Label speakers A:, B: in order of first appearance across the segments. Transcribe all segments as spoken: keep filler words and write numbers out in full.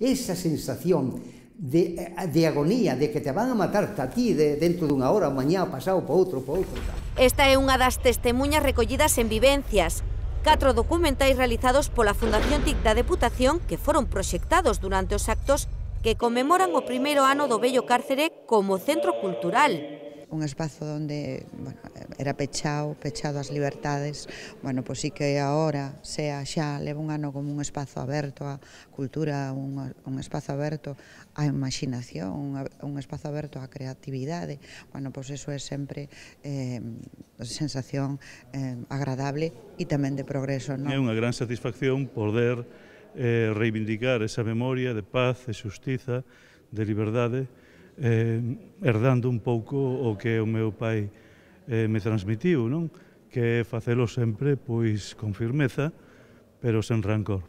A: esa sensación de, de agonía, de que te van a matar a ti de, dentro dunha hora, ou mañá, pasado, para outro, para outro.
B: Esta é unha das testemunhas recollidas en Vivencias, catro documentais realizados pola Fundación T I C da Deputación que foron proxectados durante os actos que conmemoran o primeiro ano do vello Cárcere como centro cultural.
C: Un espazo onde, bueno, era pechado, pechado as libertades, bueno, pois sí que agora, sea xa, leva un ano como un espazo aberto á cultura, un, un espazo aberto á imaginación, un, un espazo aberto á creatividade, bueno, pois eso é sempre eh, sensación eh, agradable e tamén de progreso, non?
D: É unha gran satisfacción poder eh, reivindicar esa memoria de paz, de xustiza, de liberdade, Eh, herdando un pouco o que o meu pai eh, me transmitiu, non? Que é facelo sempre pois con firmeza, pero sen rancor.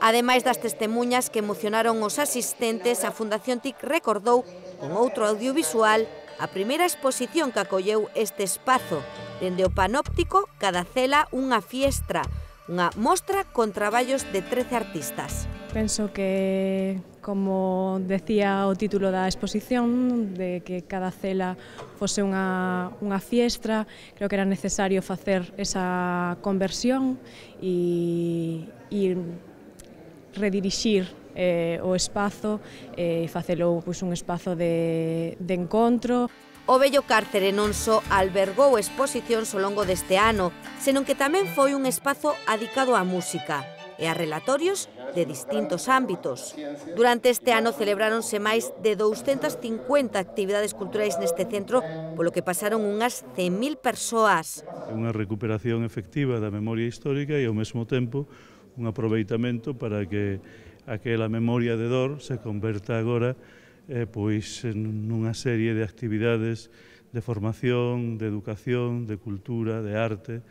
B: Ademais das testemunhas que emocionaron os asistentes, a Fundación T I C recordou con outro audiovisual a primeira exposición que acolleu este espazo, dende o panóptico Cada cela unha fiestra, unha mostra con traballos de trece artistas.
E: Penso que, como decía o título da exposición, de que cada cela fose unha, unha fiestra, creo que era necesario facer esa conversión e, e redirixir eh, o espazo e eh, facelo pois, un espazo de, de encontro.
B: O vello Cárcere non só albergou exposicións ao longo deste ano, senón que tamén foi un espazo adicado á música e a relatorios de distintos ámbitos. Durante este ano celebráronse máis de douscentas cincuenta actividades culturais neste centro, polo que pasaron unhas cen mil persoas.
D: É unha recuperación efectiva da memoria histórica e ao mesmo tempo un aproveitamento para que aquela memoria de dor se converta agora eh, pois nunha serie de actividades de formación, de educación, de cultura, de arte,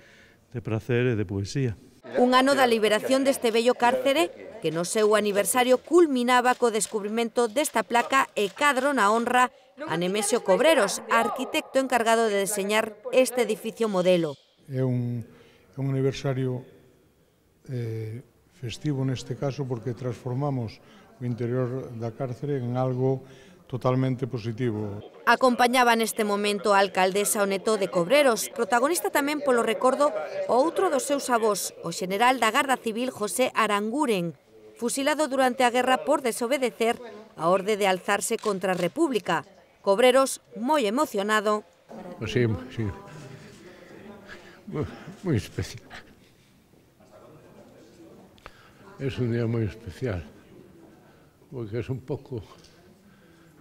D: de prazer e de poesía.
B: Un ano da liberación deste vello Cárcere que no seu aniversario culminaba co descubrimento desta placa e cadro na honra a Nemesio Cobreros, arquitecto encargado de deseñar este edificio modelo.
F: É un, un aniversario eh, festivo neste caso porque transformamos o interior da cárcere en algo totalmente positivo.
B: Acompañaba neste momento a alcaldesa o neto de Cobreros, protagonista tamén polo recordo o outro dos seus avós, o xeneral da Garda Civil José Aranguren, fusilado durante a guerra por desobedecer a orde de alzarse contra a República. Cobreros, moi emocionado.
G: Sí, sí. Moi especial. Es un día moi especial, porque es un pouco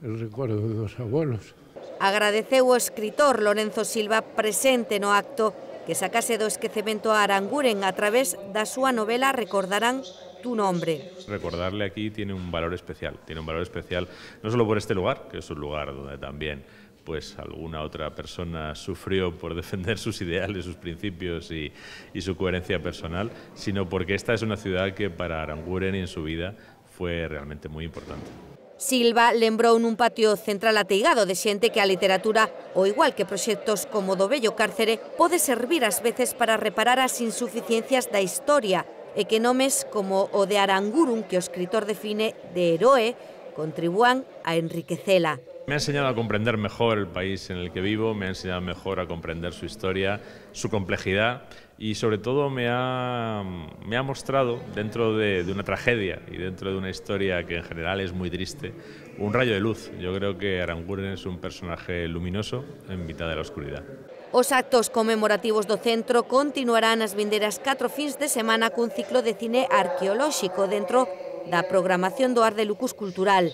G: el recuerdo dos abuelos.
B: Agradeceu o escritor Lorenzo Silva presente no acto que sacase do esquecemento a Aranguren a través da súa novela Recordarán tu nombre.
H: Recordarle aquí tiene un valor especial, tiene un valor especial no solo por este lugar, que es un lugar donde también pues alguna otra persona sufrió por defender sus ideales, sus principios y, y su coherencia personal, sino porque esta es una ciudad que para Aranguren y en su vida fue realmente muy importante.
B: Silva lembrou nun patio central ateigado de xente que a literatura, ao igual que proxectos como do vello Cárcere, pode servir ás veces para reparar as insuficiencias da historia e que nomes como o de Aranguren, que o escritor define de heroe, contribúan a enriquecela.
H: Me ha enseñado a comprender mejor el país en el que vivo, me ha enseñado mejor a comprender su historia, su complejidad y sobre todo me ha, me ha mostrado dentro de, de una tragedia y dentro de una historia que en general es muy triste, un rayo de luz. Yo creo que Aranguren es un personaje luminoso en mitad de la oscuridad.
B: Os actos conmemorativos do centro continuarán as vindeiras catro fins de semana cun ciclo de cine arqueolóxico dentro da programación do Ar de Lucus Cultural.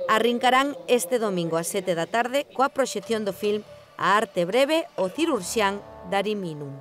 B: Arrincarán este domingo ás sete da tarde coa proxección do film A arte breve o cirurxián Dari Minum.